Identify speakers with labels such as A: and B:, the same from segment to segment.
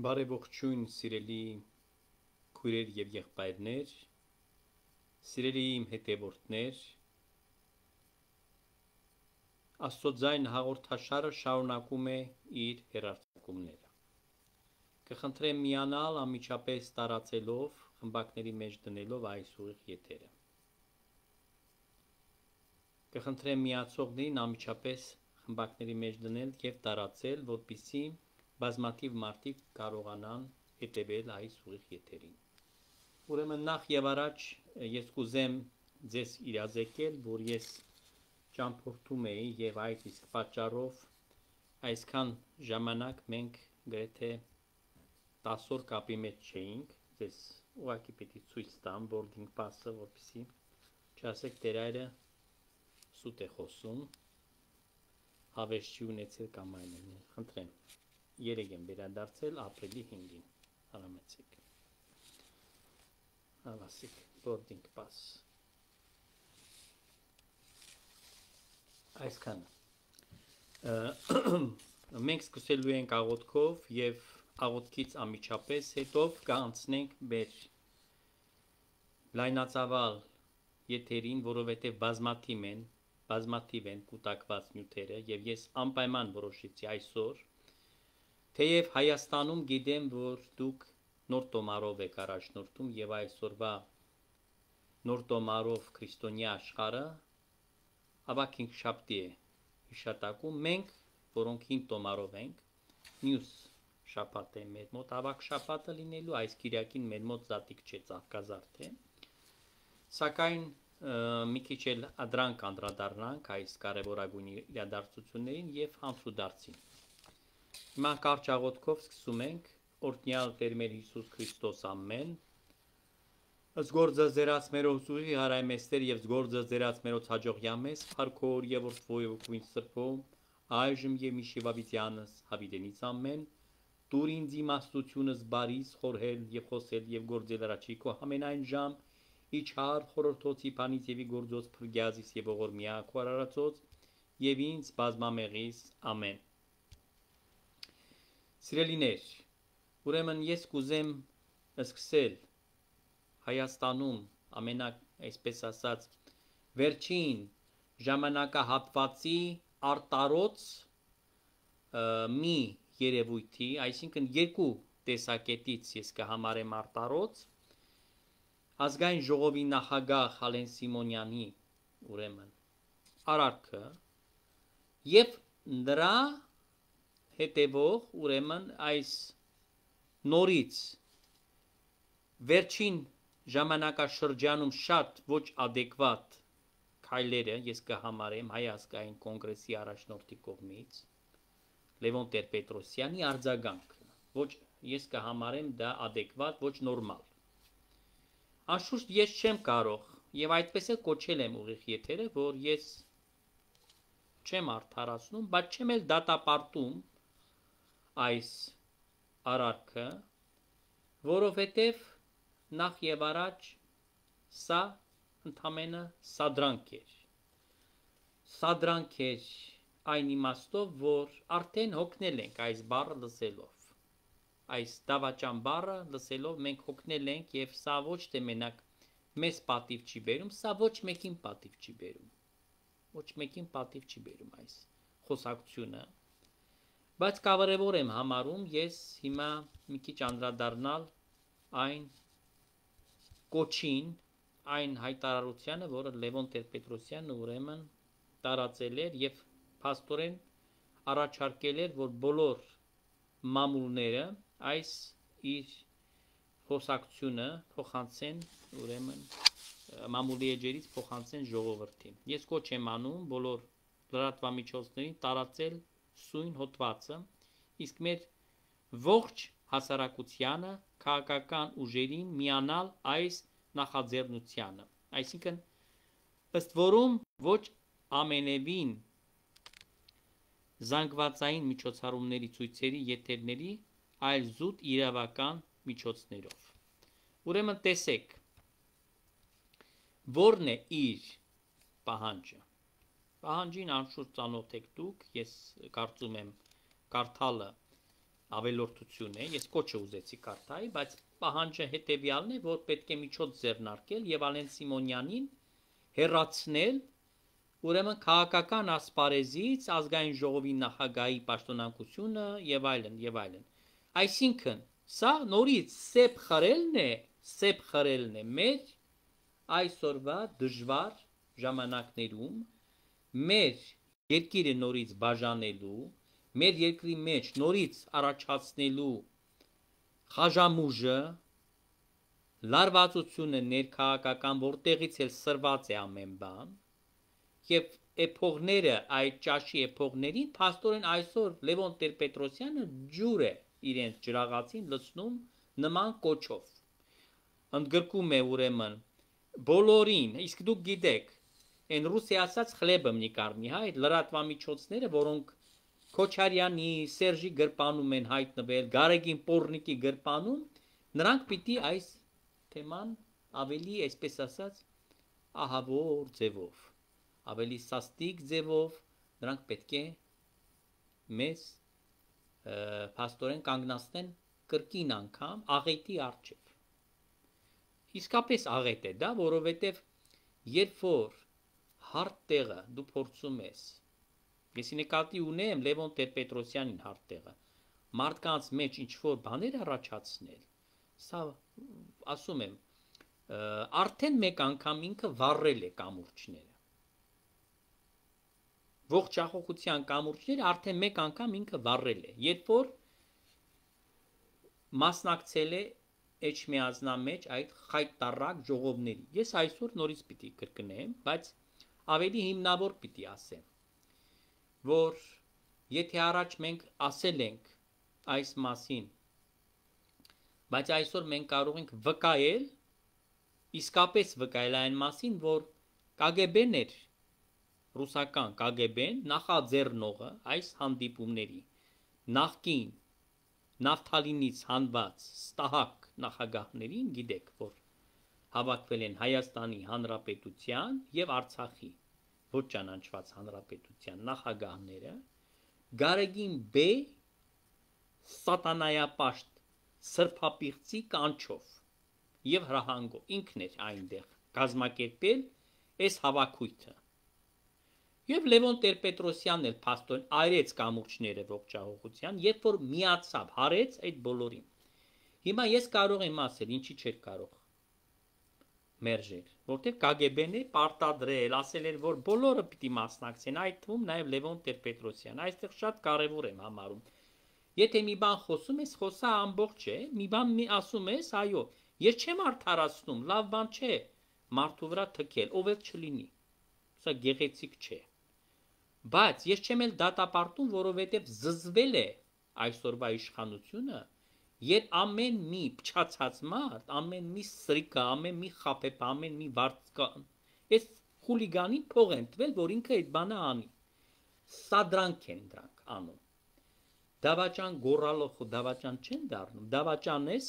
A: Բարեբողջույն սիրելի քույրեր եւ եղբայրներ, սիրելի իմ հետևորդներ, Աստծո ձայն հաղորդաշարը շարունակում է իր հեռարձակումները։ Կխնդրեմ միանալ անմիջապես տարածելով, խմբակների մեջ դնելով այս ուղիղ եթերը։ Կխնդրեմ միացողներին անմիջապես խմբակների մեջ դնել եւ տարածել, որպեսզի բազմաթիվ մարդիկ կարողանան հետևել այս ուղիղ եթերին։ Ուրեմն նախ եւ առաջ ես կուզեմ ձեզ իրազեկել, որ ես ճամփորդում էի եւ այդ իսկ պատճառով այսքան ժամանակ մենք գրեթե 10 օր կապի մեջ չէինք, ձեզ ուղղակի պիտի ցույց տամ boarding pass-ը, որպեսզի չասեք Տերայրը սուտ է խոսում, հավես չի ունեցել կամ այլն, խնդրեմ, երեք եմ վերադարձել ապրիլի 5-ին, հարամեցեք, հավասիկ, boarding pass, այսքանը, մենք սկսելու ենք աղոթքով և աղոթքից անմիջապես հետո կանցնենք մեր լայնածավալ եթերին, որովհետև բազմաթիվ են կուտակված նյութերը եւ ես անպայման որոշեցի այսօր, թեև Հայաստանում գիտեմ, որ դուք նոր տոմարով եք առաջնորդում եւ այսօրվա նոր տոմարով քրիստոնյա աշխարհը ավակ 5 շաբթի է հիշատակում, մենք, որոնք 5 տոմարով ենք, մյուս շաբաթ է մեր մոտ ավակ շաբաթը լինելու, այս կիրակին մեր մոտ զատիկ չէ, ծաղկազարդ է, սակայն մի քիչ էլ ադրանք անդրադառնանք այս կարևորագույն իրադարձություններին եւ հանցուդարձին։ Հիմա կարճ աղոթքով սկսում ենք, օրհնյալ Տեր մեր Հիսուս Քրիստոս ամեն, զգորձը ձերած մերոց ուղի հարայմեստեր եւ զգորձը ձերած մերոց հաջողյամես, փառքոր եւ որդվոյ ու սրբո, այժմ եւ միշիվավիտյանս հավիտենից ամեն, դուր ինձ իմաստությունս բարիս խորհել եւ խոսել եւ գործել առաջիկո ամենայն ժամ իջար խորհրդոցի փանից եւ գործոց փրկյազիս եւ ողորմյա քարարածոց եւ ինձ բազմամեղիս ամեն։ Սիրելիներ, ուրեմն ես կուզեմ սկսել Հայաստանում այսպես ասած վերջին ժամանակահատվածի արտարոց մի երևույթի, այսինքն երկու տեսակետից ես կհամարեմ արտարոց ազգային ժողովի նախագահ Ալեն Սիմոնյանի ուրեմն արարքը եւ նրա հետևող ուրեմն այս նորից վերջին ժամանակաշրջանում շատ ոչ adekvat քայլերը ես կհամարեմ հայ ազգային կոնգրեսի առաջնորդի կողմից Լևոն Տեր-Պետրոսյանի արձագանքը, ոչ ես կհամարեմ դա adekvat, ոչ նորմալ։ Անշուշտ ես չեմ կարող եւ այդպես էլ կոչել եմ ուղիղ եթերը, որ ես չեմ արդարացնում, բայց չեմ էլ դատապարտում այս արարքը, որովհետեւ նախ եւ առաջ սա ընդամենը սադրանք էր այն իմաստով, որ արդեն հոգնել ենք այս բառը լսելով, այս դավաճան բառը լսելով մենք հոգնել ենք եւ սա ոչ թե մենակ մեզ պատիվ չի բերում, սա ոչ մեկին պատիվ չի բերում, ոչ մեկին պատիվ չի բերում այս խոսակցությունը, բայց կարևոր եմ համարում ես հիմա մի քիչ անդրադառնալ այն կոչին, այն հայտարարությանը, որը Լևոն Տեր-Պետրոսյանը ուրեմն տարածել էր եւ փաստորեն առաջարկել էր, որ բոլոր մամուլները այս իր խոսակցությունը փոխանցեն ուրեմն մամուլի էջերից փոխանցեն ժողովրդին։ Ես կոչ եմ անում բոլոր լրատվամիջոցներին տարածել սույն հոդվածը, իսկ մեր ողջ հասարակությանը քաղաքական ուժերին միանալ այս նախաձեռնությանը, այսինքն ըստ որում ոչ ամենևին զանգվածային միջոցառումների ցույցերի եթերների, այլ զուտ իրավական միջոցներով։ Ուրեմն տեսեք, որն է իր պահանջը։ Պահանջին անշուշտ ծանոթ եք դուք, ես կարծում եմ կարդալը ավելորդություն է, ես կոչը ուզեցի կարդայի, բայց պահանջը հետևյալն է, որ պետք է միջոց ձեռնարկել եւ Ալեն Սիմոնյանին հերացնել ուրեմն քաղաքական ասպարեզից ազգային ժողովի նախագահի պաշտոնակությունը եւ այլն եւ այլն։ Այսինքն, սա նորից սեփ խրելն է մեր այսօրվա դժվար ժամանակներում մեր երկիրը նորից բաժանելու, մեր երկրի մեջ նորից առաջացնելու խաժամուժը, լարվածությունը ներքաղաքական, որտեղից էլ սրված է ամեն բան, եւ էփողները այդ ճաշի էփողներին փաստորեն այսօր Լևոն Տեր-Պետրոսյանը ջուր է իրենց ջրաղացին լցնում նման կոչով։ Ընդգրկում է ուրեմն բոլորին, իսկ դուք գիտեք, այն ռուսի ասած խլեբը մնիկարնի, հա, այդ լրատվամիջոցները, որոնք Քոչարյանի, Սերժի գրպանում են հայտնվել, Գարեգին Պորնիկի գրպանում, նրանք պիտի այս թեման ավելի, այսպես ասած, ահավոր ձևով, ավելի սաստիկ ձևով, նրանք պետք է մեզ փաստորեն կանգնացնեն կրկին անգամ աղետի առջև։ Իսկապես աղետ է դա, որովհետև երբ որ հարթ տեղը դու փորձում ես, ես նկատի ունեմ Լևոն Տեր-Պետրոսյանին հարթ տեղը, մարդկանց մեջ ինչ-որ բաներ առաջացնել, սա ասում եմ, արդեն մեկ անգամ ինքը վառել է կամուրջները։ Ողջ աղողության կամուրջները արդեն մեկ անգամ ինքը վառել է, երբ որ մասնակցել է Էջմիածնա մեջ այդ խայտարակ ժողովների։ Ես այսօր նորից պիտի կրկնեմ, բայց ավելի հիմնավոր պիտի ասեմ, որ եթե առաջ մենք ասել ենք այս մասին, բայց այսօր մենք կարող ենք վկայել, իսկապես վկայել այն մասին, որ KGB-ն էր, ռուսական KGB-ն նախաձեռնողը այս հանդիպումների, նախկին Նավթալինից հանված ստահակ նախագահներին, գիտեք, որ հավաքվել են Հայաստանի Հանրապետության եւ Արցախի ոչ ճանաչված հանրապետության նախագահները, Գարեգին Բ. սատանայապաշտ սրբապիղծի կանչով եւ հրահանգով ինքն էր այնտեղ կազմակերպել այս հավաքույթը։ Եվ Լևոն Տեր-Պետրոսյանն էլ փաստորեն այրեց կամուրջները ողջահողության, երբ որ միացավ, հարեց այդ բոլորին։ Հիմա ես կարող եմ ասել, ինչի չէր կարող մերժել, որտեղ KGB-ն է պարտադրել, ասել էր, որ բոլորը պիտի մասնակցեն, այդ թվում նաև Լևոն Տեր-Պետրոսյանը։ Այստեղ շատ կարևոր եմ համարում։ Եթե մի բան խոսում ես, խոսա ամբողջ է, մի բան ասում ես, այո, ես չեմ արդարացնում, լավ բան չէ մարդու վրա թքել, ով էլ չլինի։ Սա գեղեցիկ չէ։ Բայց ես չեմ էլ դատապարտում, որովհետև զզվել է այսօրվա իշխանությունը, երբ ամեն մի փչացած մարդ, ամեն մի սրիկա, ամեն մի խապեպ, ամեն մի վարձկան, այս խուլիգանին փող են տվել, որ ինքը այդ բանը անի։ Սա դրանք են դրանք անում։ Դավաճան գոռալով դավաճան չեն դառնում, դավաճան ես,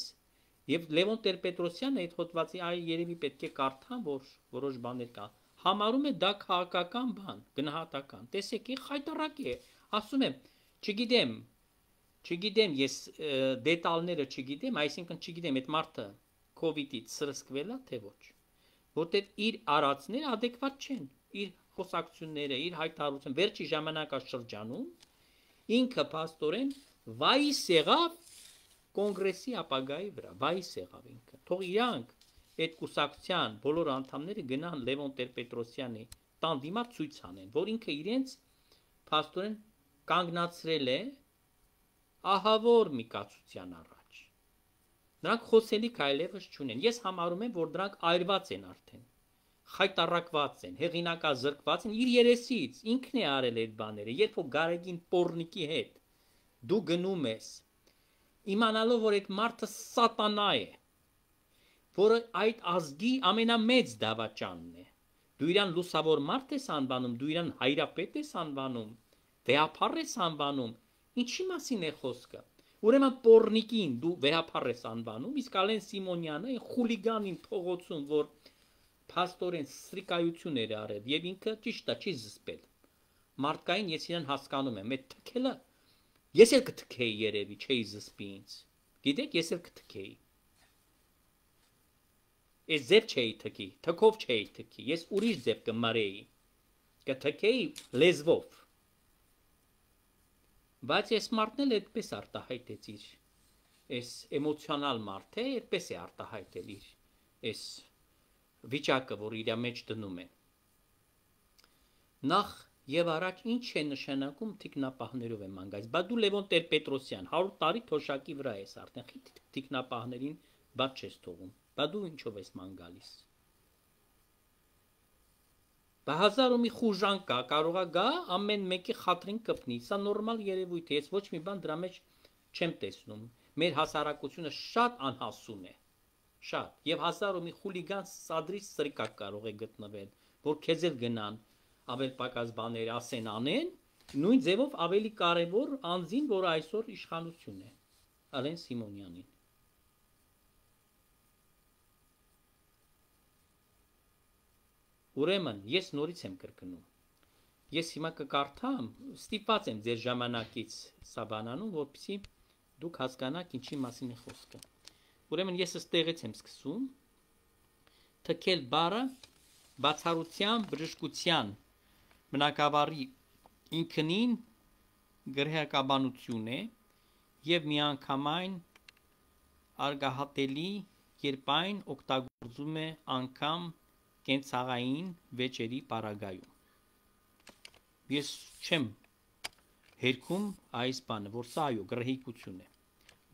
A: եւ Լևոն Տեր-Պետրոսյանը այդ հոդվածի այ երևի պետք է կարդան, որ որոշ բաներ կան։ Համարում է դա քաղաքական բան, գնահատական։ Տեսեք, խայտարակ է, ասում եմ, չգիտեմ, ես դետալները չգիտեմ, այսինքն չգիտեմ, այդ մարդը COVID-ից սրսկվել է, թե ոչ, որտեղ իր արածները adekvat չեն, իր խոսակցությունները, իր հայտարարությունը վերջի ժամանակաշրջանում ինքը փաստորեն վայիս եղավ կոնգրեսի ապագայի վրա, վայիս եղավ ինքը։ Թող իրանք այդ կուսակցության բոլոր անդամները գնան Լևոն Տեր-Պետրոսյանի տան դիմաց ցույց անեն, որ ինքը իրենց փաստորեն կանգնացրել է ահավոր մի կացության առաջ։ Նրանք խոսելիք այլևս չունեն։ Ես համարում եմ, որ դրանք այրված են արդեն, խայտարակված են, հեղինակազրկված են իր երեսից, ինքն է արել այդ բաները։ Երբ որ Գարեգին Պորնիկի հետ դու գնում ես, իմանալով, որ այդ մարդը սատանա է, որը այդ ազգի ամենամեծ դավաճանն է, դու իրան լուսավոր մարդ ես անվանում, դու իրան հայրապետ ես անվանում, վեհափառ ես անվանում, ինչի մասին է խոսքը։ Ուրեմն Պորնիկին դու վեհափառ ես անվանում, իսկ Ալեն Սիմոնյանը այն խուլիգանին փողոցում, որ փաստորեն սրիկայություն էր արել, եւ ինքը ճիշտ է, չի զսպել։ Մարդկային ես իրան հասկանում եմ, այդ թքելը Ես էլ կթքեի երևի, չէի զսպի ինձ։ Գիտեք, ես էլ կթքեի։ Ես ձև չէի թքի, թքով չէի թքի, ես ուրիշ ձև կմարեի, կթքեի լեզվով։ Բայց ես մարդն էլ այդպես արտահայտեց իր, այս էմոցիոնալ մարդ է, այդպես է արտահայտել իր, այս վիճակը, որ իր մեջ դնում են։ Նախ եւ առաջ ինչ է նշանակում թիկնապահներով եմ անգայց, բա դու Լևոն Տեր-Պետրոսյան 100 տարի թոշակի վրա ես արդեն, թիկնապահներին բաց չես թողում, բա դու ինչով ես ման գալիս։ Բա հազար ու մի խուժան կա, կարողա գա ամեն մեկի խաթրին կպնի, սա նորմալ երևույթ է, ես ոչ մի բան դրա մեջ չեմ տեսնում, մեր հասարակությունը շատ անհասուն է, շատ, եւ հազար ու մի խուլիգան սադրի սրիկակ կարող է գտնվել, որ քեզ էլ գնան, ավել պակաս բաներ ասեն անեն, նույն ձևով ավելի կարևոր անձին, որ այսօր իշխանություն է, Ալեն Սիմոնյանին։ Ուրեմն, ես նորից եմ կրկնում, ես հիմա կկարդամ, ստիպված եմ ձեր ժամանակից սա բանանում, որպեսզի դուք հասկանաք ինչի մասին է խոսքը։ Ուրեմն, ես ըստեղից եմ սկսում, թքել բառը բացառության, բժշկության, բնակավարի ինքնին գրեհակաբանություն է եւ միանգամայն արգահատելի, երբ այն օգտագործում է անգամ կենցաղային վեճերի պարագայում։ Ես չեմ հերքում այս բանը, որ սա այո գրեհիկություն է,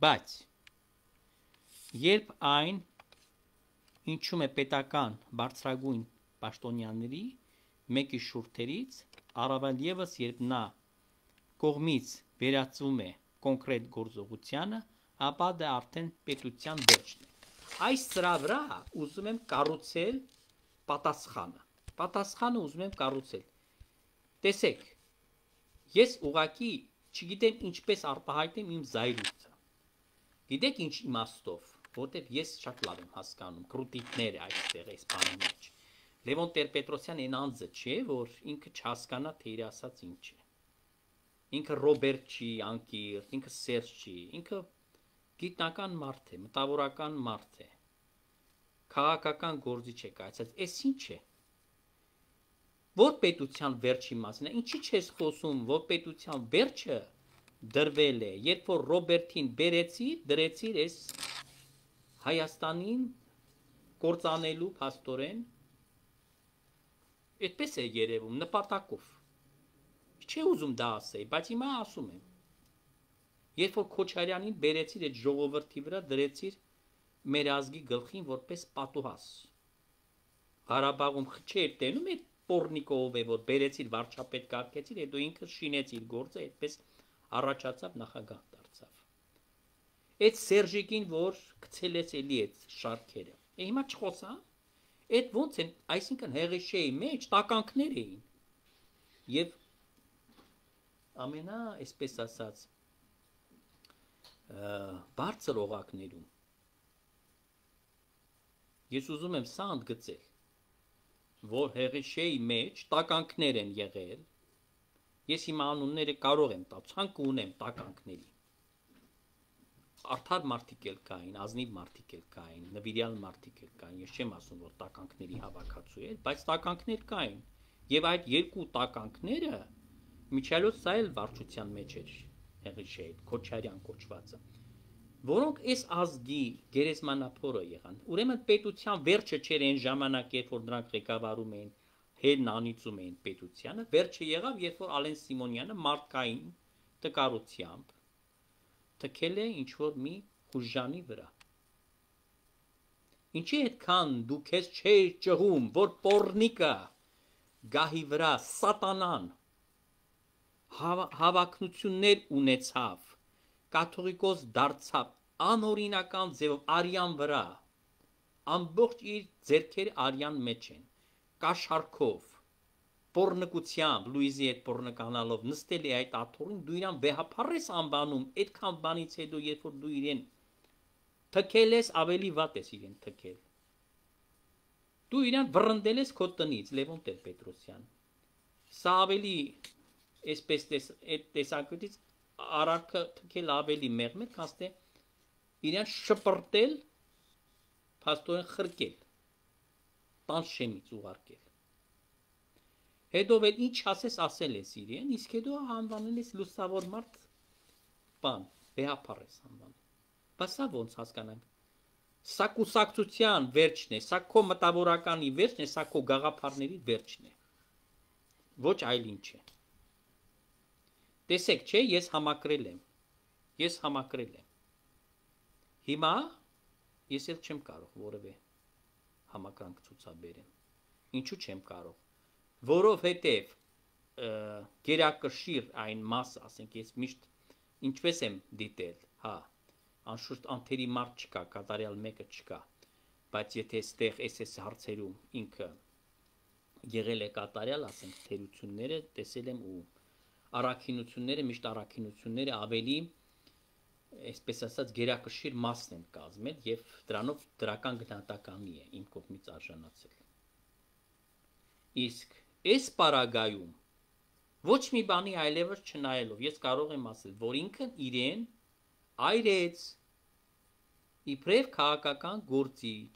A: բայց երբ այն ինչում է պետական բարձրագույն պաշտոնյաների մեկի շուրթերից, առավել ևս երբ նա կողմից վերածվում է կոնկրետ գործողությանը, ապա դա արդեն պետության վերջն է։ Այս սրա վրա ուզում եմ կառուցել պատասխանը ուզում եմ կառուցել։ Տեսեք, ես ուղղակի չգիտեմ ինչպես արտահայտեմ իմ զայրույթը։ Գիտեք ինչ իմաստով, որտեղ ես շատ լավ եմ հասկանում կրուտիկները այստեղ այս բանի մեջ։ Լևոն Տեր-Պետրոսյան այն անձը չէ, որ ինքը չհասկանա, թե իր ասած ինչ է։ Ինքը Ռոբերտ չի, անկիրթ, ինքը Սերժ չի, ինքը գիտնական մարդ է, մտավորական մարդ է, քաղաքական գործիչ է կայացած, այս ինչ է։ Որ պետության վերջի մասին է, ինչի չես խոսում, որ պետության վերջը դրվել է, երբ որ Ռոբերտին դրեցիր այս Հայաստանին կործանելու փաստորեն, այդպես է երևում, նպատակով։ Չէ ուզում դա ասեի, բայց հիմա ասում եմ։ Երբ որ Քոչարյանին բերեցիր այդ ժողովրդի վրա, դրեցիր մեր ազգի գլխին որպես պատուհաս։ Ղարաբաղում չէր տենում այդ Պորնիկով է, որ բերեցիր վարչապետ կարգեցիր, հետո ինքը շինեց իր գործը, այդպես առաջացավ նախագահ դարձավ։ Այդ Սերժիկին, որ գցել ես էլի այդ շարքերը։ Հիմա չխոսա։ Այդ ոնց են, այսինքն հեղեշեի մեջ տականքներ էին։ Եվ ամենա, այսպես ասած, բարձր օղակներում ես ուզում եմ սա ընդգծել, որ հեղեշեի մեջ տականքներ են եղել, ես հիմա անունները կարող եմ տալ, ցանկ ունեմ տականքների, արդար մարդիկ էլ կային, ազնիվ մարդիկ էլ կային, նվիրյալ մարդիկ էլ կային, ես չեմ ասում, որ տականքների հավաքածու էր, բայց տականքներ կային, եւ այդ երկու տականքները միջալոց սա էլ վարչության մեջ էր, հեղեշեի, Քոչարյան կոչվածը, որոնք այս ազգի գերեզմանափորը եղան, ուրեմն պետության վերջը չէր այն ժամանակ, երբ որ նրանք ղեկավարում էին, հերն անիծում էին պետությանը, վերջը եղավ, երբ որ Ալեն Սիմոնյանը մարդկային տկարությամբ թքել է ինչ-որ մի խուժանի վրա։ Ինչի այդքան դու քեզ չէր ճղում, որ Պորնիկը գահի վրա սատանան հավակնություններ ունեցավ, կաթողիկոս դարձավ անօրինական ձևով արյան վրա, ամբողջ իր ձեռքերը արյան մեջ են, կաշառքով, պորնկությամբ, Լուիզի այդ պորնկանալով նստել է այդ աթոռին, դու իրան վեհափառ ես անվանում, այդքան բանից հետո, երբ որ դու իրեն թքել ես, ավելի վատ ես իրեն թքել։ Դու իրան վռնդել ես քո տնից, Լևոն Տեր-Պետրոսյան։ Սա ավելի այսպես այդ տեսակետից արարքը թքել ավելի մեղմել, քան թե իրեն շպրտել, փաստորեն խրկել, տան շեմից ուղարկել։ Հետո էլ ինչ ասել ես իրեն, իսկ հետո անվանել ես լուսավոր մարդ, բան, վեհապար ես անվանում։ Բայց սա ոնց հասկանանք։ Սա կուսակցության վերջն է, սա քո մտավորականի վերջն է, սա քո գաղափարների վերջն է։ Ոչ այլ ինչ է։ Տեսեք, չէ, ես համակրել եմ։ Հիմա ես էլ չեմ կարող որևէ համակրանք ցուցաբերեմ։ Ինչու չեմ կարող։ Որովհետև գերակշիռ այն մասը, ասենք ես միշտ ինչպես եմ դիտել, հա, անշուշտ անթերի մարդ չկա, կատարյալ մեկը չկա, բայց եթե այստեղ այս հարցերում ինքը եղել է կատարյալ, ասենք թերությունները տեսել եմ ու առաքինությունները, միշտ առաքինությունները ավելի, այսպես ասած, գերակշիռ մասն են կազմել եւ դրանով դրական գնահատականի է իմ կողմից արժանացել։ Իսկ այս պարագայում ոչ մի բանի այլևս չնայելով ես կարող եմ ասել, որ ինքն իրեն այրեց իբրև քաղաքական գործիչ,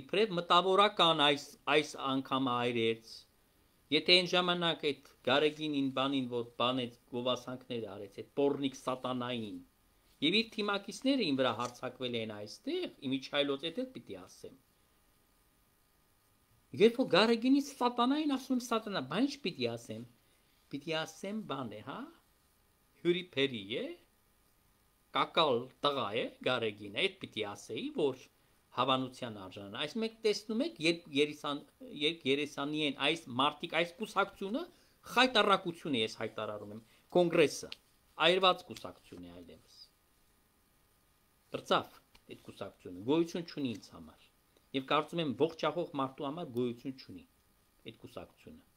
A: իբրև մտավորական այս անգամ այրեց, եթե այն ժամանակ այդ Գարեգինին բանին, որ բանեց գովասանքներ արեց, այդ պորնիկ սատանային, եւ իր թիմակիցները ին վրա հարցակվել են այստեղ, իմիջայլոց էլ պիտի ասեմ։ Երբ որ Գարեգինի սատանային ասում սատանա, բան ինչ պիտի ասեմ։ Պիտի ասեմ բան է, հա։ Հյուրիփերի է, կակալ տղա է Գարեգինը, այդ պիտի ասեի, որ հավանության արժանանա։ Այս մեկ տեսնում եք, երբ երեսանի են այս մարտիկ, այս կուսակցությունը խայտարակություն է, ես հայտարարում եմ, կոնգրեսը, այրված կուսակցություն է այլևս։ Դրծավ այդ կուսակցությունը, գոյություն չունի ինձ համար։ Եվ կարծում եմ ողջախոհ մարդու համար գոյություն չունի այդ կուսակցությունը։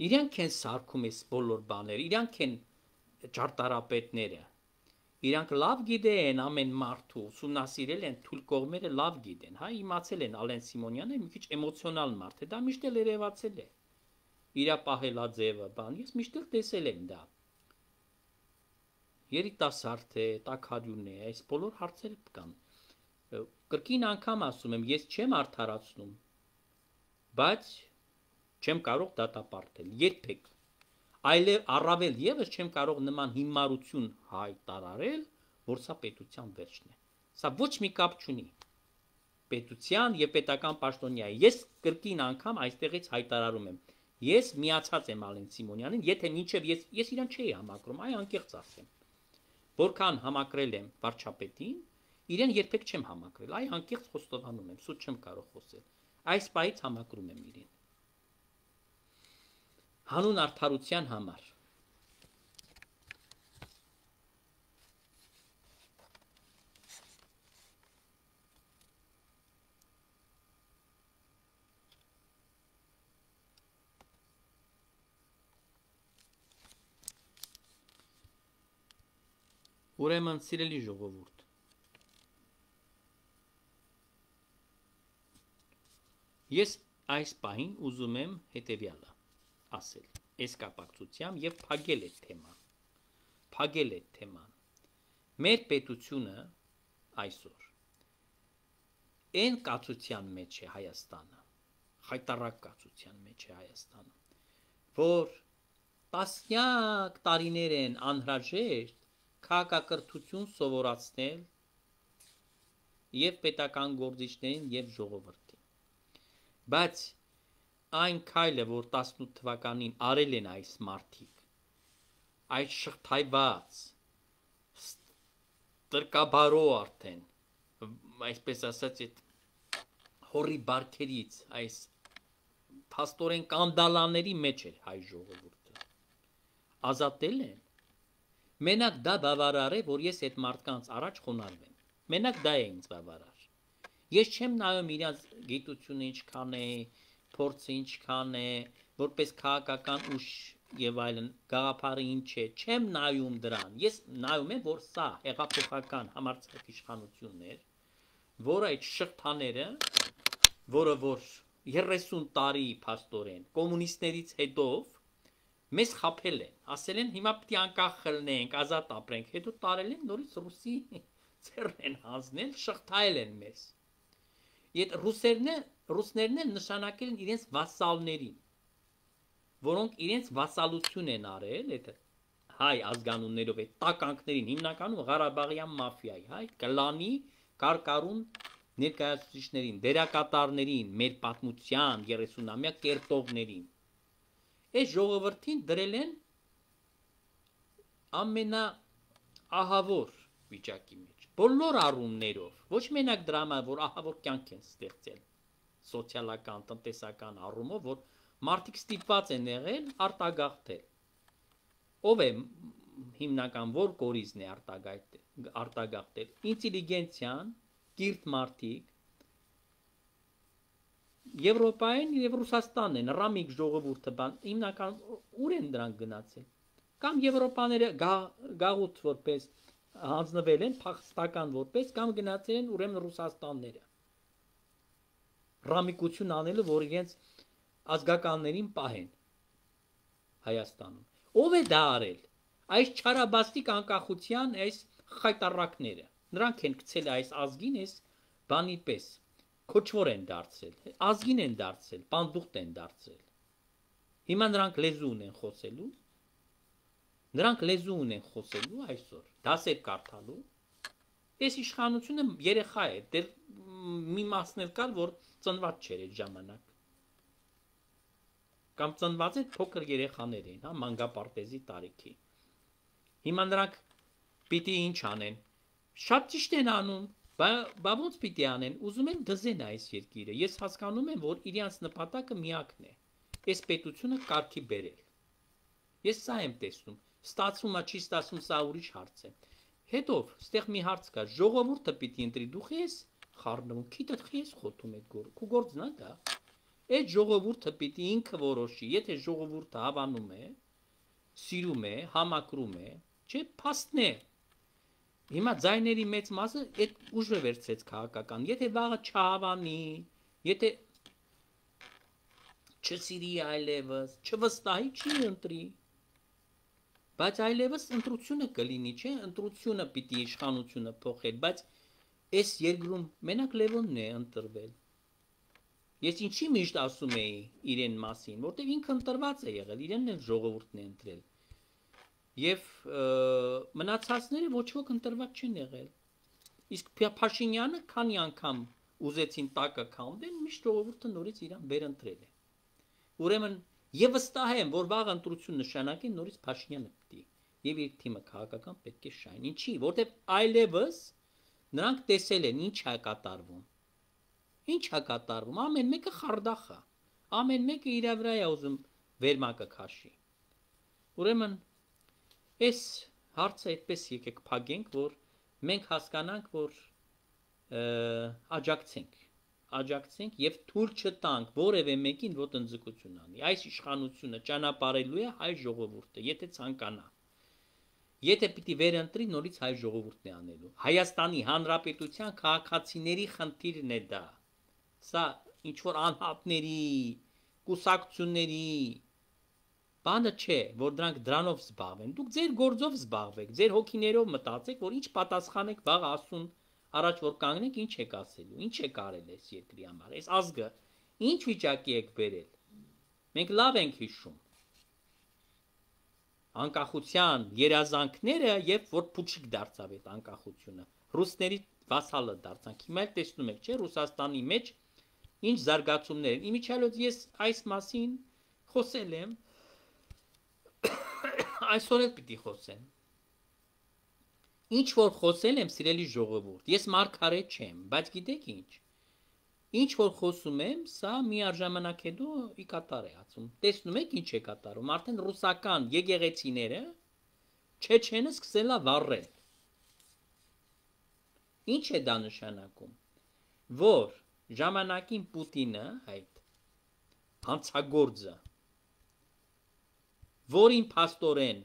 A: Իրանք են սարքում այս բոլոր բաները, իրանք են ճարտարապետները, իրանք լավ գիտեն ամեն մարդու, ուսումնասիրել են, թույլ կողմերը լավ գիտեն, հա, իմացել են Ալեն Սիմոնյանը մի քիչ էմոցիոնալ մարդ է, դա միշտ էլ երևացել է։ Իրա պահելաձևը, բան, ես միշտ էլ տեսել եմ դա։ Երիտասարդ է, տաքարյուն է, այս բոլոր հարցերը կան։ Կրկին անգամ ասում եմ, ես չեմ արդարացնում, բայց չեմ կարող դատապարտել, երբեք։ Այլև առավել եւս չեմ կարող նման հիմարություն հայտարարել, որ սա պետության վերջն է։ Սա ոչ մի կապ չունի պետության եւ պետական պաշտոնյայի։ Ես կրկին անգամ այստեղից հայտարարում եմ։ Ես միացած եմ Ալեն Սիմոնյանին, եթե մինչև ես իրան չէի համակրում, այ անկեղծ ասեմ։ Որքան համակրել եմ վարչապետին, իրեն երբեք չեմ համակրել, այ անկեղծ խոստովանում եմ, սուտ չեմ կարող խոսել։ Այս պահից համակրում եմ իրեն։ Հանուն արդարության համար։ Ուրեմն սիրելի ժողովուրդ, ես այս պահին ուզում եմ հետևյալը ասել, այս կապակցությամբ եւ փակել այդ թեման, Մեր պետությունը այսօր այն կացության մեջ է Հայաստանը, խայտարակ կացության մեջ է Հայաստանը, որ տասնյակ տարիներ են անհրաժեշտ քաղաքակրթություն սովորացնել եւ պետական գործիչներին եւ ժողովրդին։ Բայց այն քայլը, որ 18 թվականին արել են այս մարդիկ, այդ շղթայված տրկաբարո արդեն, այսպես ասած, այդ հորի բարքերից, այս փաստորեն կանդալաների մեջ էր հայ ժողովուրդը։ Ազատել են։ Մենակ դա բավարար է, որ ես այդ մարդկանց առաջ խոնարհվեմ։ Մենակ դա է ինձ բավարար։ Ես չեմ նայում իրաց գիտությունը ինչքան է, փորձը ինչքան է, որպես քաղաքական ուժ եւ այլն, գաղափարը ինչ է, չեմ նայում դրան։ Ես նայում եմ, որ սա հեղափոխական համարձակ իշխանությունն էր, որը այդ շղթաները, որը որ 30 տարի փաստորեն կոմունիստներից հետո մեզ խափել են, ասել են հիմա պետք է անկախ խլնենք, ազատ ապրենք, հետո տարել են նորից ռուսի ծերն են հանձնել, շղթայել են մեզ։ Եդ ռուսներն էլ նշանակել են իրենց վասալներին, որոնք իրենց վասալություն են արել, այդ հայ ազգանուններով այդ տականքներին, հիմնականում Ղարաբաղյան մաֆիայի, հայ կլանի կարկառուն ներկայացուցիչներին, դերակատարներին, մեր պատմության 30-ամյա կերտողներին։ Այս ժողովրդին դրել են ամենաահավոր վիճակի մեջ, բոլոր առումներով, ոչ մենակ դրա համար, որ ահավոր կյանք են ստեղծել, սոցիալական, տնտեսական առումով, որ մարդիկ ստիպված են եղել արտագաղթել։ Ով է հիմնական որ կորիզն է արտագաղթել։ Ինտելիգենցիան, կիրթ մարդիկ, Եվրոպային եւ Ռուսաստանն են, ռամիկ ժողովուրդը բան, հիմնական ուր են դրանք գնացել։ Կամ Եվրոպաները գաղութ որպես հանձնվել են, փախստական որպես, կամ գնացել են ուրեմն Ռուսաստանները։ Ռամիկություն անելու, որ իրենց ազգականներին պահեն Հայաստանում։ Ով է դա արել։ Այս չարաբաստիկ անկախության այս խայտարակները։ Նրանք են գցել այս ազգին այս բանի պես։ Քոչվոր են դարձել, ազգին են դարձել, պանդուխտ են դարձել։ Հիմա նրանք լեզու ունեն խոսելու, այսօր, դասեր կարդալու, այս իշխանությունը երեխա է, դեռ մի մասն էլ կար, որ ծնված չէր այդ ժամանակ, կամ ծնված է փոքր երեխաներ էին, մանկապարտեզի տարիքի, հիմա նրանք պիտի ինչ անեն, շատ ճիշտ են անում, Բա ոնց պիտի անեն, ուզում են դզեն այս երկիրը, ես հասկանում եմ, որ իրենց նպատակը միակն է, այս պետությունը կարգի բերել, ես սա եմ տեսնում, ստացվում է, չի ստացվում, սա ուրիշ հարց է, հետո, ստեղ մի հարց կա, ժողովուրդը պիտի ընտրի, դու ես խառնվում, քիթդ ես խոթում այդ գործ, քու գործն է դա, այդ ժողովուրդը պիտի ինքը որոշի, եթե ժողովուրդը հավանում է, սիրում է, համակրում է, չէ, փաստն է, Հիմա ձայների մեծ մասը այդ ուժը վերցրեց քաղաքական, եթե վաղը չհավանի, եթե չսիրի այլևս, չվստահի, չի ընտրի, բայց այլևս ընտրությունը կլինի, չէ, ընտրությունը պիտի իշխանությունը փոխել, բայց այս երկրում մենակ Լևոնն է ընտրվել, ես ինչի միշտ ասում էի իրեն մասին, որտեղ ինքը ընտրված է եղել, իրենն էլ ժողովուրդն է ընտրել, Եվ մնացածները ոչ ոք ընտրված չեն եղել, իսկ Փաշինյանը քանի անգամ ուզեցին տակը քանդեն, միշտ ժողովուրդը նորից իրան վերընտրել է, ուրեմն եւ վստահ եմ, որ վաղ ընտրություն նշանակեն նորից Փաշինյանը պիտի, եւ իր թիմը քաղաքական պետք է շահեն, ինչի, որտեւ այլևս նրանք տեսել են ինչ է կատարվում, ամեն մեկը խարդախ է, ամեն մեկը իր վրա է ուզում վերմակը քաշի, ուրեմն Այս հարցը այդպես եկեք փակենք, որ մենք հասկանանք, որ աջակցենք եւ թույլ չտանք որևէ մեկին ոտնձգություն անի։ Այս իշխանությունը ճանապարհելու է հայ ժողովուրդը, եթե ցանկանա։ Եթե պիտի վերընտրի, նորից հայ ժողովուրդն է անելու։ Հայաստանի Հանրապետության քաղաքացիների խնդիրն է դա։ Սա ինչ որ անհատների, կուսակցությունների Բանը չէ, որ դրանք դրանով զբաղվեն, դուք ձեր գործով զբաղվեք, ձեր հոգիներով մտածեք, որ ինչ պատասխանեք վաղ ասուն առաջ որ կանգնեք, ինչ եք ասելու, ինչ եք արել այս երկրի համար, այս ազգը, ինչ վիճակի եք բերել, մենք լավ ենք հիշում, անկախության երազանքները և որ փուչիկ դարձավ այդ անկախությունը, ռուսների վասալը դարձանք, հիմա էլ տեսնում եք, չէ, Ռուսաստանի մեջ ինչ զարգացումներ են, իմիջիալոց ես այս մասին խոսել եմ, Այսօր էլ պիտի խոսեմ, ինչ որ խոսել եմ սիրելի ժողովուրդ, ես մարգարետ չեմ, բայց գիտեք ինչ որ խոսում եմ, սա միաժամանակ հետո ի կատար է ածում, տեսնում եք ինչ է կատարում, արդեն ռուսական եկեղեցիները Չեչենը սկսել է վառել, ինչ է դա նշանակում, որ ժամանակին Պուտինը, այդ հանցագործը, որին փաստորեն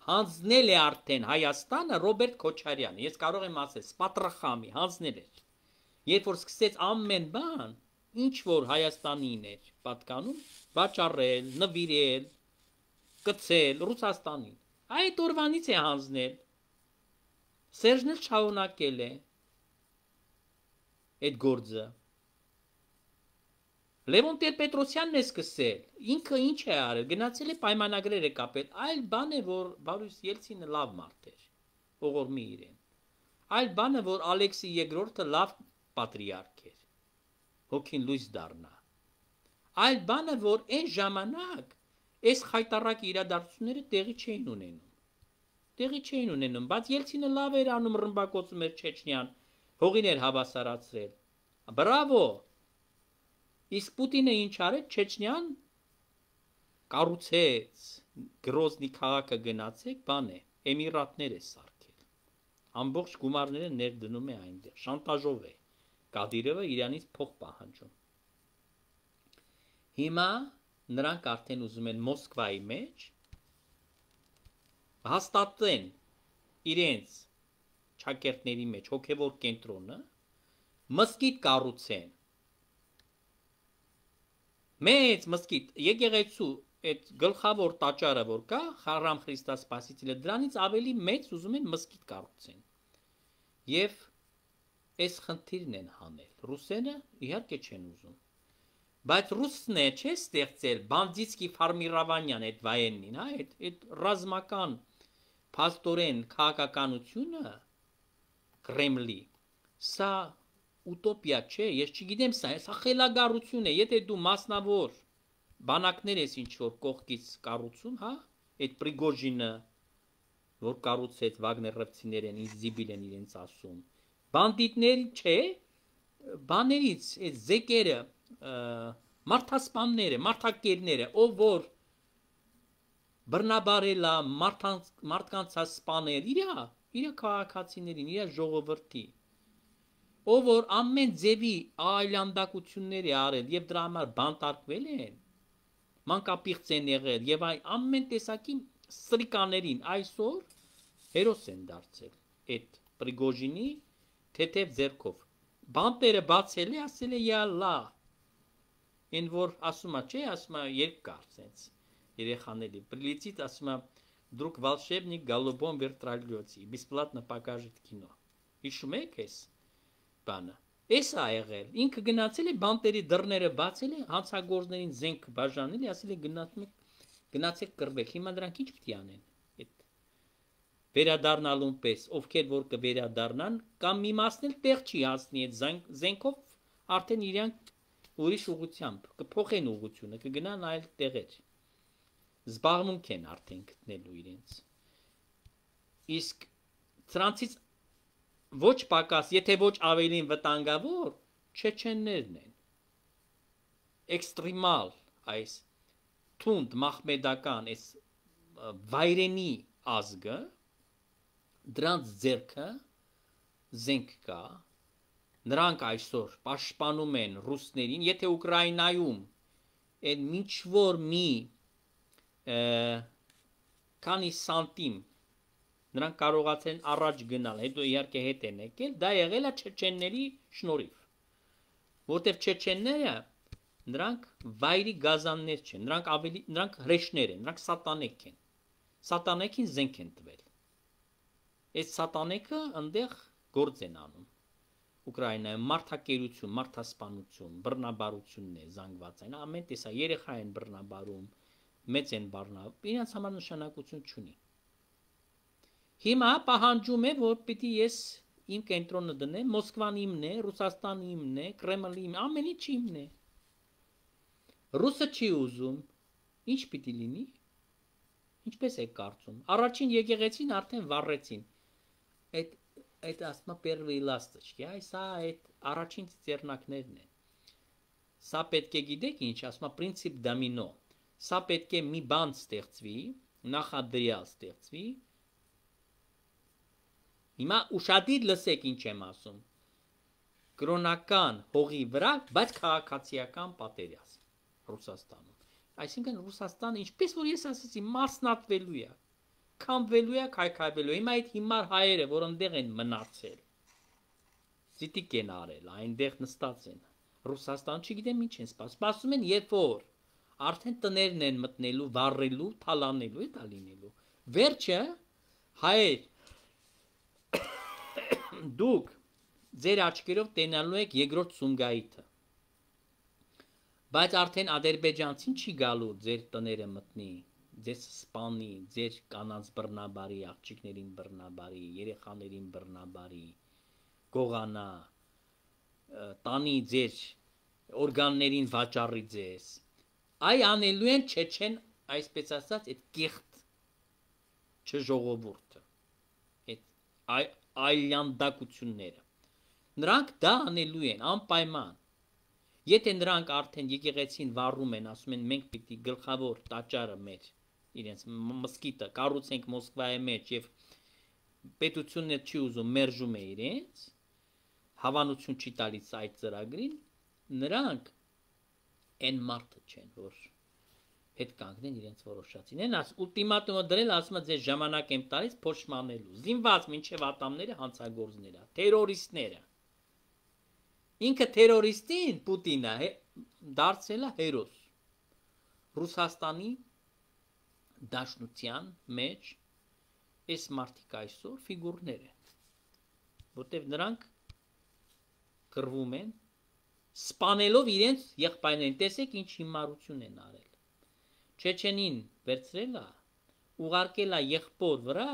A: հանձնել է արդեն Հայաստանը Ռոբերտ Քոչարյանը, ես կարող եմ ասել, սպատրախամի հանձնել էր, երբ որ սկսեց ամեն բան, ինչ որ Հայաստանին էր պատկանում, վաճառել, նվիրել, կցել Ռուսաստանին։ Այդ օրվանից է հանձնել։ Սերժն էլ շարունակել է այդ գործը։ Լևոն Տեր-Պետրոսյանն է սկսել։ Ինքը ինչ է արել, գնացել է պայմանագրեր է կապել, այլ բան է, որ Բորիս Ելցինը լավ մարդ էր, ողորմի իրեն։ Այլ բան է, որ Ալեքսի II-ը լավ պատրիարք էր, հոգին լույս դառնա։ Այլ բան է, որ այն ժամանակ այս խայտառակ իրադարձությունները տեղի չէին ունենում։ Տեղի չէին ունենում, բայց Ելցինը լավ էր անում, ռմբակոծում էր Չեչնիան, հողին էր հավասարացրել։ Բրավո։ Իսկ Պուտինը ինչ արեց, Չեչնիան կառուցեց, Գրոզնի քաղաքը գնացեք, բան է, Էմիրատներ է սարքել։ Ամբողջ գումարները ներդնում է այնտեղ, շանտաժով է։ Կադիրովը իրանից փող պահանջում։ Հիմա նրանք արդեն ուզում են Մոսկվայի մեջ հաստատեն իրենց ճակերտների մեջ հոգևոր կենտրոնը, մզկիթ կառուցեն։ Մեծ մզկիթ, եկեղեցու այդ գլխավոր տաճարը որ կա, Խարամ Խրիստոս Սպասителը, դրանից ավելի մեծ ուզում են մզկիթ կառուցեն։ Եվ այս խնդիրն են հանել։ Ռուսերը իհարկե չեն ուզում։ Բայց ռուսն է չէ ստեղծել Բանդիտսկի Ֆարմիրավանյան այդ վայենին, հա, այդ ռազմական փաստորեն քաղաքականությունը Կրեմլի։ Սա ուտոպիա չէ, ես չգիտեմ սա խելագարություն է, եթե դու մասնավոր բանակներ ես ինչ որ կողքից կառուցում, հա, այդ Պրիգոժինը, որ կառուցեց Վագներովցիներեն, ինձ զիբիլ են իրենց ասում, բանդիտների չէ, բաներից, այդ զեկերը, մարդասպանները, մարդակերները, ով որ բռնաբարելա մարդկանց սպանել, իր քաղաքացիներին, իր ժողովրդի, ով որ ամեն ձևի այլանդակություններ է արել եւ դրա համար բանտարկվել են, մանկապիղծ են եղել եւ ամեն տեսակի սրիկաներին այսօր հերոս են դարձել այդ Պրիգոժինի թեթև ձեռքով։ Բանտերը բացել է, ասել է յալլա։ Այն որ ասում է, չէ, ասում է երկար sense երեխաների Прилетит, ասում է друг волшебник голубом вертолете, бесплатно покажет кино։ Հիշում եք էս բանը։ Էս է եղել։ Ինքը գնացել է բանտերի դռները բացել է, հանցագործներին զենք բաժանել է, ասել է գնացեք կռվեք։ Հիմա դրանք ինչ պիտի անեն։ Այդ վերադառնալուն պես, ովքեր որ կվերադառնան, կամ մի մասն էլ տեղ չի հասնի այդ զենքով, արդեն իրանք ուրիշ ուղությամբ կփոխեն ուղությունը, կգնան այլ տեղեր։ Զբաղմունք են արդեն գտնելու իրենց։ Իսկ սրանցից ոչ պակաս, եթե ոչ ավելին վտանգավոր, չեչեններն են։ Էքստրեմալ այս թունդ մախմեդական այս վայրենի ազգը, դրանց ձեռքը զենք կա, նրանք այսօր պաշտպանում են ռուսներին, եթե Ուկրաինայում այն ինչ որ մի քանի սանտիմ նրանք կարողացեն առաջ գնալ, հետո իհարկե հետ են եկել, դա եղել է չեչենների շնորհիվ, որտեղ չեչենները նրանք վայրի գազաններ չեն, նրանք հրեշներ են, նրանք սատանեկ են, սատանեկին զենք են տվել, այս սատանեկը ընդեղ գործ են անում, Ուկրաինայում մարդակերություն, մարդասպանություն, բռնաբարությունն է զանգված այն, ամեն տեսա երեխա են բռնաբարում, մեծ են բռնաբարում, իրենց համար նշանակություն չունի։ Հիմա պահանջում է, որ պիտի ես իմ կենտրոնը դնեմ, Մոսկվան իմն է, Ռուսաստանը իմն է, Կրեմլը իմն է, ամեն ինչ իմն է։ Ռուսը չի ուզում, ինչ պիտի լինի։ Ինչպես է կարծում։ Առաջին եկեղեցին արդեն վառեցին։ Այդ ասма первые ласточки, այ սա այդ առաջին ծերնակներն են։ Սա պետք է գիտեք ինչ, ասма принцип դոմինո։ Սա պետք է մի բան ստեղծվի, նախադրյալ ստեղծվի։ Հիմա ուշադիր լսեք ինչ եմ ասում։ Կրոնական հողի վրա, բայց քաղաքացիական պատերազմ Ռուսաստանում։ Այսինքն Ռուսաստանը, ինչպես որ ես ասացի, մասնատվելու է, քամվելու է, քայքայվելու։ Հիմա այդ հիմար հայերը, որ այնտեղ են մնացել, զիտիկ են արել, այնտեղ նստած են, Ռուսաստան չգիտեմ ինչ են սպասում։ Սպասում են երբ որ արդեն տներն են մտնելու, վառելու, թալանելու է դա լինելու։ Վերջը հայեր դուք ձեր աչքերով տենալու եք երկրորդ Սումգայիթը։ Բայց արդեն ադրբեջանցին չի գալու ձեր տները մտնի, ձեզ սպանի, ձեր կանանց բռնաբարի, աղջիկներին բռնաբարի, երեխաներին բռնաբարի, գողանա, տանի ձեր օրգաններին վաճառի ձեզ։ Այ անելու են չեչեն, այսպես ասած, այդ կեղտ չժողովուրդը, այդ այլանդակությունները։ Նրանք դա անելու են անպայման։ Եթե նրանք արդեն եկեղեցին վառում են, ասում են մենք պիտի գլխավոր տաճարը մեր իրենց մսկիթը կառուցենք Մոսկվայի մեջ եւ պետությունն չի ուզում մերժում է իրենց, հավանություն չի տալիս այդ ծրագրին, նրանք այն մարդը չեն, որ հետ կանգնեն իրենց որոշածին։ Են ուլտիմատումը դրել, ասում է ձեր ժամանակ եմ տալիս փոշմանելու։ Զինված մինչև ատամները հանցագործները, տերորիստները։ Ինքը տերորիստին Պուտինը դարձել է հերոս Ռուսաստանի դաշնության մեջ այս մարդիկ այսօր ֆիգուրներ են, որտեղ նրանք կռվում են, սպանելով իրենց եղբայրներին, տեսեք ինչ հիմարություն են արել, Չեչենին վերցրել է, ուղարկել է եղբոր վրա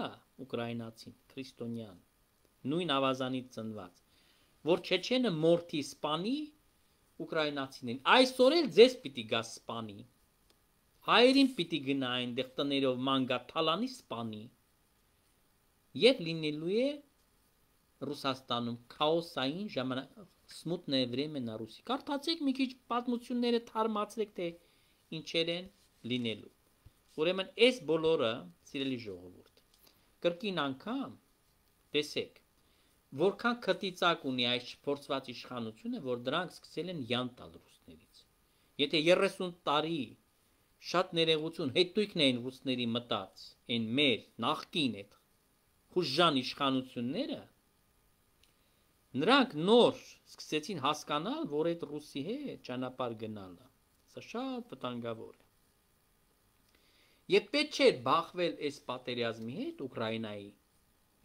A: ուկրաինացին, քրիստոնյան, նույն ավազանից ծնված, որ Չեչենը մորթի սպանի ուկրաինացիներին, այսօր էլ ձեզ պիտի գա սպանի, հայերին պիտի գնա այնտեղ տներով ման գա թալանի սպանի, եւ լինելու է Ռուսաստանում քաոսային ժամանակ, смутное время на Руси։ Կարդացեք մի քիչ պատմությունները թարմացրեք, թե ինչեր են լինելու։ Ուրեմն այս բոլորը, սիրելի ժողովուրդ, կրկին անգամ տեսեք, որքան քտիծակ ունի այս փորձված իշխանությունը, որ դրանք սկսել են յան տալ ռուսներից։ Եթե 30 տարի շատ ներողություն հետույքն էին ռուսների մտած, այն մեր նախկին այդ խուժժան իշխանությունները, նրանք նոր սկսեցին հասկանալ, որ այդ ռուսի հետ ճանապարհ գնալը, սա շատ վտանգավոր է։ Եվ պետք չէ բախվել այս պատերազմի հետ Ուկրաինայի։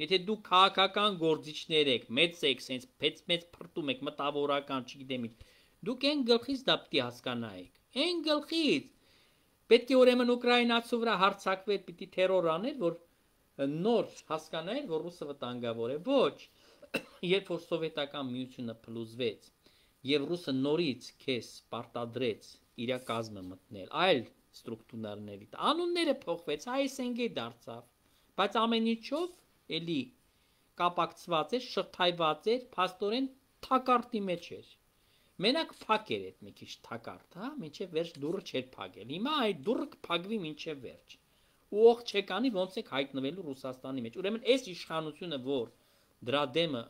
A: Եթե դուք քաղաքական գործիչներ եք, մեծ եք, սենց մեծ փրտում եք, մտավորական, չգիտեմ ինչ, դուք այն գլխից դա պիտի հասկանայիք։ Այն գլխից պետք է ուրեմն ուկրաինացու վրա հարձակվել, պիտի տերոր անել, որ նոր հասկանայր, որ ռուսը վտանգավոր է։ Ոչ, երբ որ սովետական միությունը փլուզվեց, եւ ռուսը նորից քեզ պարտադրեց իր կազմը մտնել, այլ ստրուկտուրաների, անունները փոխվեց, այսենգե դարձավ, բայց ամեն ինչով էլի կապակցված էր, շղթայված էր, փաստորեն թակարտի մեջ էր։ Մենակ փակեր այդ մի քիչ թակարդ, հա, մինչև վերջ դուռը չէր փակել։ Հիմա այդ դուռը կփակվի մինչև վերջ։ Ու ող չեկանի ոնց է հայտնվելու Ռուսաստանի մեջ։ Ուրեմն այս իշխանությունը, որ դրա դեմը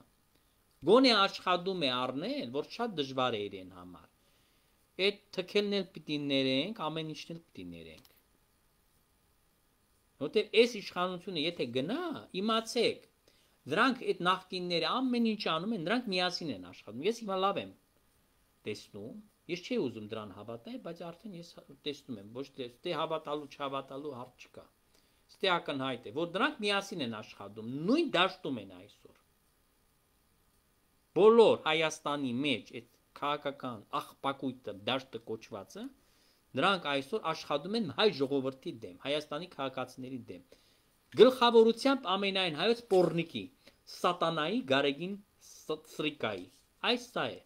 A: գոնե աշխատում է առնել, որ շատ դժվար է իրեն համար։ Այդ թքելն էլ պիտի ներենք, ամեն ինչն էլ պիտի ներենք։ Որտեղ այս իշխանությունը եթե գնա, իմացեք, դրանք այդ նախկինները ամեն ինչ անում են, դրանք միասին են աշխատում։ Ես հիմա լավ եմ տեսնում, ես չի ուզում դրան հավատալ, բայց արդեն ես տեսնում եմ, ոչ թե ստե հավատալու, չհավատալու հարց չկա։ Ստե ակնհայտ է, որ դրանք միասին են աշխատում, նույն դաշտում են այսօր։ Բոլոր Հայաստանի մեջ այդ քաղաքական աղբակույտը, դաշտը կոչվածը, նրանք այսօր աշխատում են հայ ժողովրդի դեմ, Հայաստանի քաղաքացիների դեմ։ Գլխավորությամբ ամենայն հայոց պոռնիկի, սատանայի, գարեգին սրիկայի։ Այս սա է։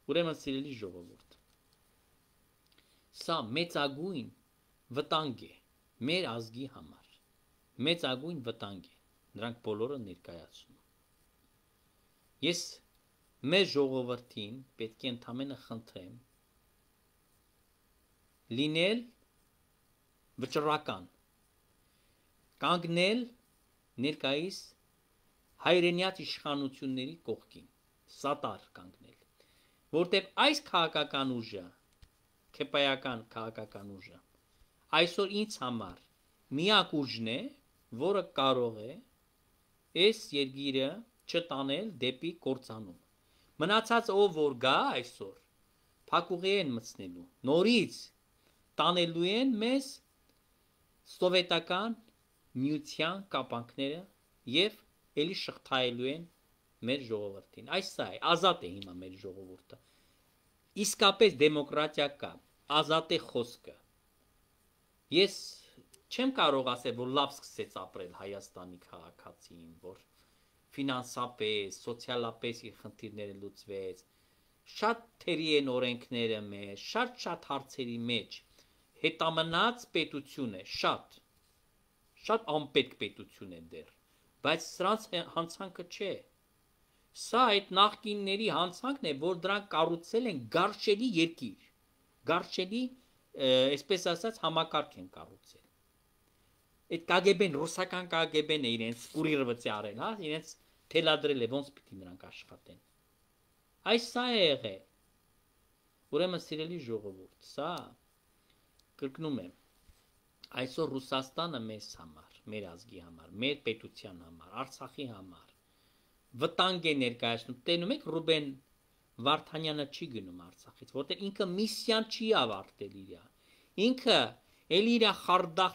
A: Ուրեմն սիրելի ժողովուրդ, սա մեծագույն վտանգ է մեր ազգի համար, մեծագույն վտանգ է, նրանք բոլորը ներկայացնում։ Ես մեր ժողովրդին պետք է ընդամենը խնդրեմ լինել վճռական, կանգնել ներկայիս հայրենյաց իշխանությունների կողքին, սատար կանգնել, որտեղ այս քաղաքական ուժը, քեպայական քաղաքական ուժը, այսօր ինձ համար միակ ուժն է, որը կարող է այս երկիրը չտանել դեպի կործանում։ Մնացած ով որ գա այսօր, փակուղի են մտցնելու, նորից տանելու են մեզ սովետական միության կապանքները եւ ելի շղթայելու են մեր ժողովրդին։ Այս սա է, ազատ է հիմա մեր ժողովուրդը։ Իսկապես դեմոկրատիա կա, ազատ է խոսքը։ Ես չեմ կարող ասել, որ լավ սկսեց ապրել Հայաստանի քաղաքացին, որ ֆինանսապես, սոցիալապես իր խնդիրները լուծվեց, շատ թերի են օրենքները մեջ, շատ հարցերի մեջ, հետամնաց պետություն է, շատ անպետք պետություն է դեռ, բայց սրանց հանցանքը չէ։ Սա այդ նախկինների հանցանքն է, որ դրանք կառուցել են գարշելի երկիր, գարշելի, այսպես ասած, համակարգ են կառուցել։ Այդ KGB-ն, ռուսական KGB-ն է իրենց կուրիռվծի արել, հա, իրենց թելադրել է, ոնց պիտի նրանք աշխատեն։ Այս սա է եղել։ Ուրեմն սիրելի ժողովուրդ, սա կրկնում եմ, այսօր Ռուսաստանը մեզ համար, մեր ազգի համար, մեր պետության համար, Արցախի համար վտանգ է ներկայացնում։ Տենում եք Ռուբեն Վարդանյանը չի գնում Արցախից, որտեղ ինքը միսիան չի ավարտել իր։ Ինքը ելի իր խարդախ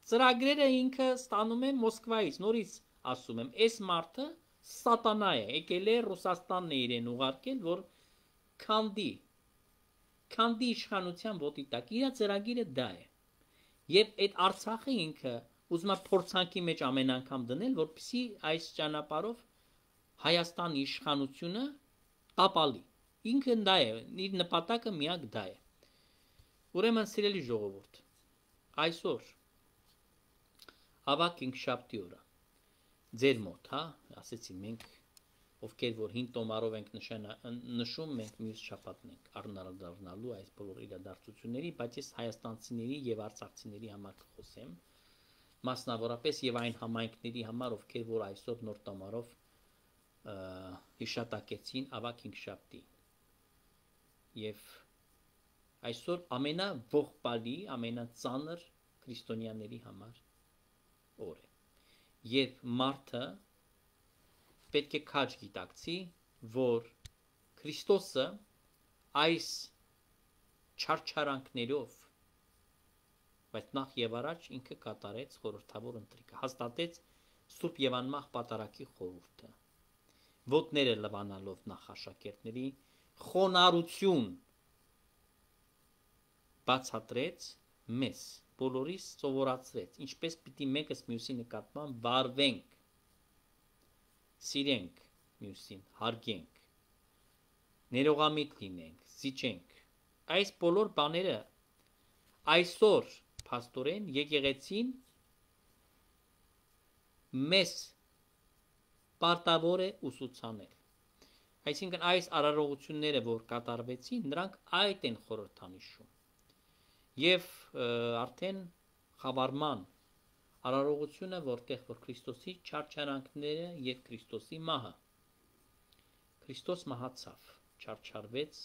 A: ծրագրերը ինքը ստանում է Մոսկվայից, նորից ասում եմ, այս մարդը սատանա է, եկել է Ռուսաստանն է իրեն ուղարկել, որ քանդի իշխանության ոտի տակ, իր ծրագիրը դա է։ Եվ այդ Արցախը ինքը ուզում է փորձանքի մեջ ամեն անգամ դնել, որպեսզի այս ճանապարհով Հայաստանի իշխանությունը տապալի։ Ինքը դա է, իր նպատակը միակ դա է։ Ուրեմն սիրելի ժողովուրդ, այսօր ավակ ինքշաբթի օրը ձեր մոտ, հա, ասեցի մենք ովքեր որ հին տոմարով ենք նշում, մենք մյուս շաբաթն ենք առնալու այս բոլոր իրադարձությունների, բայց ես հայաստանցիների եւ արցախցիների համար կխոսեմ, մասնավորապես եւ այն համայնքների համար, ովքեր որ այսօր նոր տոմարով հիշատակեցին ավակ ինքշաբթի։ Եվ այսօր ամենաողբալի, ամենածանր քրիստոնյաների համար օր է։ Երբ մարդը պետք է քաջ գիտակցի, որ Քրիստոսը այս չարչարանքներով, բայց նախ եւ առաջ ինքը կատարեց խորհրդավոր ընթրիքը, հաստատեց Սուրբ եւ անմահ պատարագի խորհուրդը, ոտները լվանալով նախաշակերտների խոնարհություն բացատրեց մեզ, բոլորիս սովորացրեց, ինչպես պիտի մեկս մյուսի նկատմամբ վարվենք, սիրենք մյուսին, հարգենք, ներողամիտ լինենք, զիջենք։ Այս բոլոր բաները այսօր փաստորեն եկեղեցին մեզ պարտավոր է ուսուցանել։ Այսինքն այս արարողությունները, որ կատարվեցին, նրանք այդ են խորհրդանիշում։ Եվ արդեն խավարման արարողությունը, որտեղ որ Քրիստոսի չարչարանքները եւ Քրիստոսի մահը։ Քրիստոս մահացավ, չարչարվեց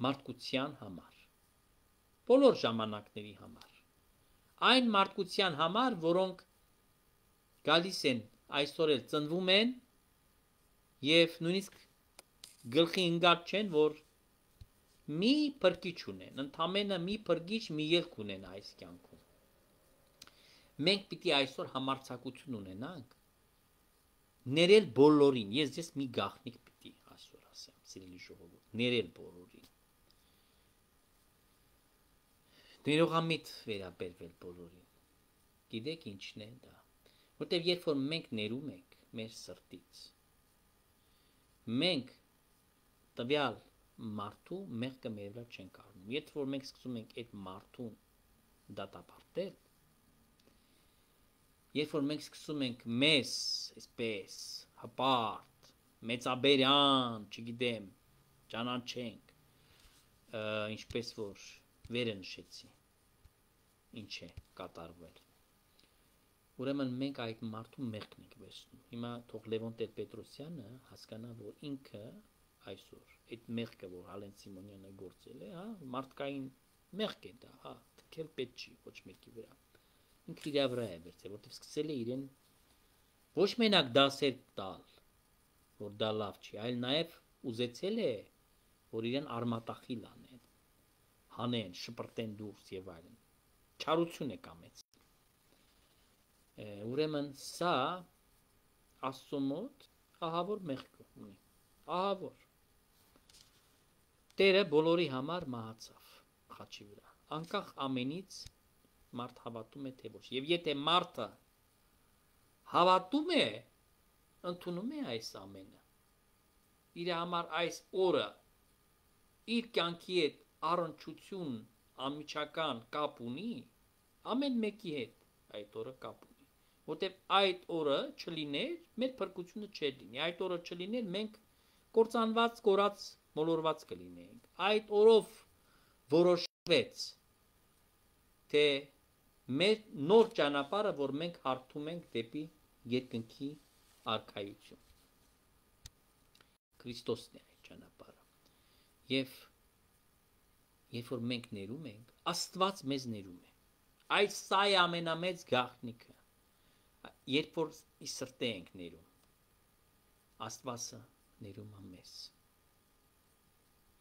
A: մարդկության համար, բոլոր ժամանակների համար, այն մարդկության համար, որոնք գալիս են այսօր էլ ծնվում են եւ նույնիսկ գլխի ընկած չեն, որ մի փրկիչ ունեն, ընդամենը մի փրկիչ, մի ելք ունեն այս կյանքում։ Մենք պիտի այսօր համարձակություն ունենանք ներել բոլորին, ես մի գաղտնիք պիտի այսօր ասեմ, սիրելի ժողովուրդ, ներել բոլորին, ներողամիտ վերաբերվել բոլորին, գիտեք ինչն է դա, որտեվ երբ որ մենք ներում ենք մեր սրտից, մենք տվյալ մարդու մեղքը մեր վրա չենք առնում, երբ որ մենք սկսում ենք այդ մարդուն դատապարտել, երբ որ մենք սկսում ենք մեզ, այսպես, հպարտ, մեծաբերյան, չգիտեմ, ճանաչենք, ինչպես որ վերը նշեցի, ինչ է կատարվել, ուրեմն մենք այդ մարդու մեղքն ենք վերցնում, հիմա թող Լևոն Տեր-Պետրոսյանը հասկանա, որ ինքը այսօր, այդ մեղքը, որ Հալեն Սիմոնյանը գործել է, հա, մարդկային մեղք է դա, հա, թքել պետք չի, ոչ մեկի վրա, ինքը իր վրա է վերցել, որտեղ սկսել է իրեն ոչ մենակ դասեր տալ, որ դա լավ չի, այլ նաև ուզեցել է որ իրեն արմատախիլ անեն, հանեն, շպրտեն դուրս եւ այլն։ Չարություն է կամեց։ Ուրեմն սա Աստծո մոտ ահավոր մեղք ունի։ Ահավոր։ Տերը բոլորի համար մահացավ խաչի վրա։ Անկախ ամենից մարդ հավատում է թե ոչ։ Եվ եթե մարդը հավատում է, ընդունում է այս ամենը, իր համար այս օրը իր կյանքի հետ առնչություն անմիջական կապ ունի, ամեն մեկի հետ այդ օրը կապ ունի, որտեղ այդ օրը չլիներ, մեր փրկությունը չէր լինի, այդ օրը չլիներ, մենք կործանված, կորած, մոլորված կլինեինք, այդ օրով որոշվեց, թե մեր նոր ճանապարհը, որ մենք հարթում ենք դեպի երկնքի արքայություն, Քրիստոսն է այդ ճանապարհը, եւ երբ որ մենք ներում ենք, Աստված մեզ ներում է, այս սա է ամենամեծ գաղտնիքը, երբ որ ի սրտե ենք ներում, Աստվածը ներում է մեզ,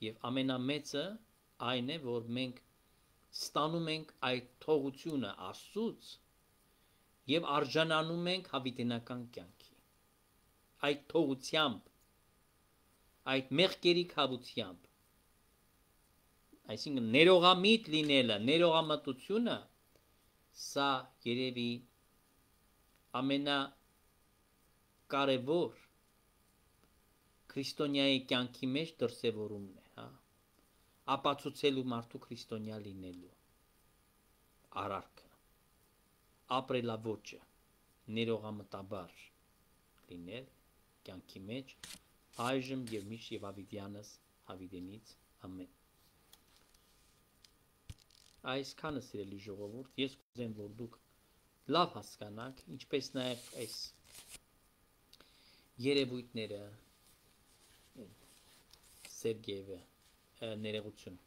A: եւ ամենամեծը այն է, որ մենք ստանում ենք այդ թողությունը Աստծուց եւ արժանանում ենք հավիտենական կյանքի, այդ թողությամբ, այդ մեղքերի քավությամբ, այսինքն ներողամիտ լինելը, ներողամտությունը, սա երևի ամենակարևոր քրիստոնյայի կյանքի մեջ դրսևորումն է, հա, ապացուցելու մարդու քրիստոնյա լինելու արարքը, ապրելաոճը, ներողամտաբար լինել կյանքի մեջ, այժմ եւ միշտ եւ հավիտյանս հավիտենից ամեն։ Այսքանը սիրելի ժողովուրդ, ես կուզեմ, որ դուք լավ հասկանաք, ինչպես նաեւ այս երևույթները Սերգեյը ներողություն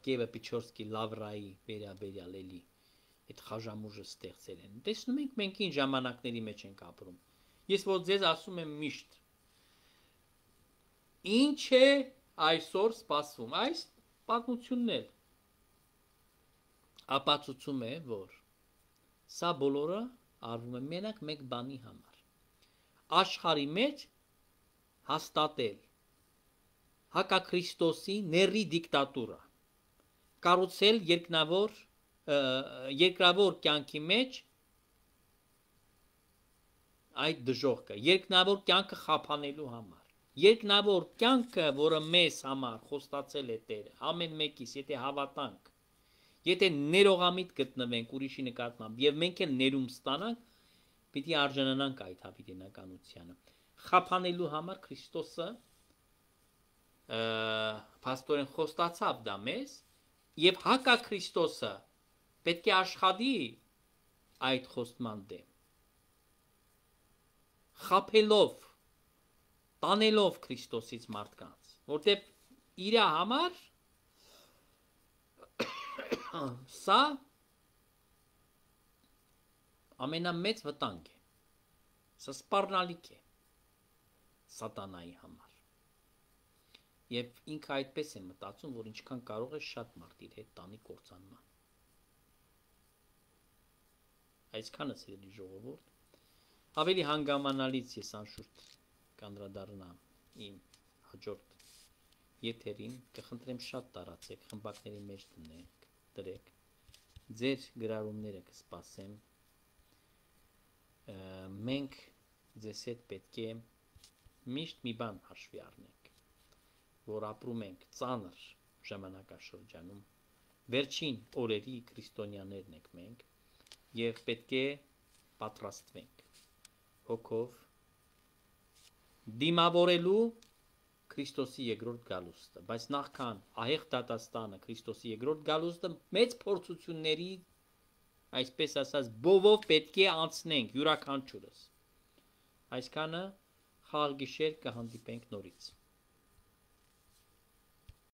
A: Կիևը Պիչորսկի Լավրայի վերաբերյալ էլի այդ խաժամուժը ստեղծել են։ Տեսնում ենք մենք ինչ ժամանակների մեջ ենք ապրում։ Ես որ ձեզ ասում եմ միշտ ինչ է այսօր սպասվում, այս պատմությունն էլ ապացուցում է, որ սա բոլորը արվում է մենակ մեկ բանի համար։ Աշխարհի մեջ հաստատել հակաքրիստոսի ների դիկտատուրա, կառուցել երկրավոր կյանքի մեջ այդ դժողքը, երկնավոր կյանքը խափանելու համար, երկնավոր կյանքը, որը մեզ համար խոստացել է Տերը, ամեն մեկիս, եթե հավատանք, եթե ներողամիտ գտնվենք ուրիշի նկատմամբ եւ մենք էլ ներում ստանանք, պիտի արժանանանք այդ հավիտենականությանը։ Խափանելու համար Քրիստոսը փաստորեն խոստացավ դա մեզ եւ հակաքրիստոսը պետք է աշխատի այդ խոստման դեմ, խափելով, տանելով Քրիստոսից մարդկանց, որտեղ իր համար սա ամենամեծ վտանգ է, սա սպառնալիք է սատանայի համար։ Եվ ինքը այդպես է մտածում, որ ինչքան կարող է շատ մարդ իր հետ տանի կործանման։ Այսքանը սիրելի ժողովուրդ, ավելի հանգամանալից ես անշուշտ կանդրադառնամ իմ հաջորդ եթերին, կխնդրեմ շատ տարածեք, խմբակների մեջ դրեք, ձեր գրառումները կսպասեմ, մենք ձեզ հետ պետք է միշտ մի բան հաշվի առնենք, որ ապրում ենք ծանր ժամանակաշրջանում, վերջին օրերի քրիստոնյաներն ենք մենք, եւ պետք է պատրաստվենք հոգով դիմավորելու Քրիստոսի երկրորդ գալուստը, բայց նախքան ահեղ դատաստանը Քրիստոսի երկրորդ գալուստը մեծ փորձությունների, այսպես ասած, բովով պետք է անցնենք յուրաքանչյուրս։ Այսքանը խաղ գիշեր կհանդիպենք նորից։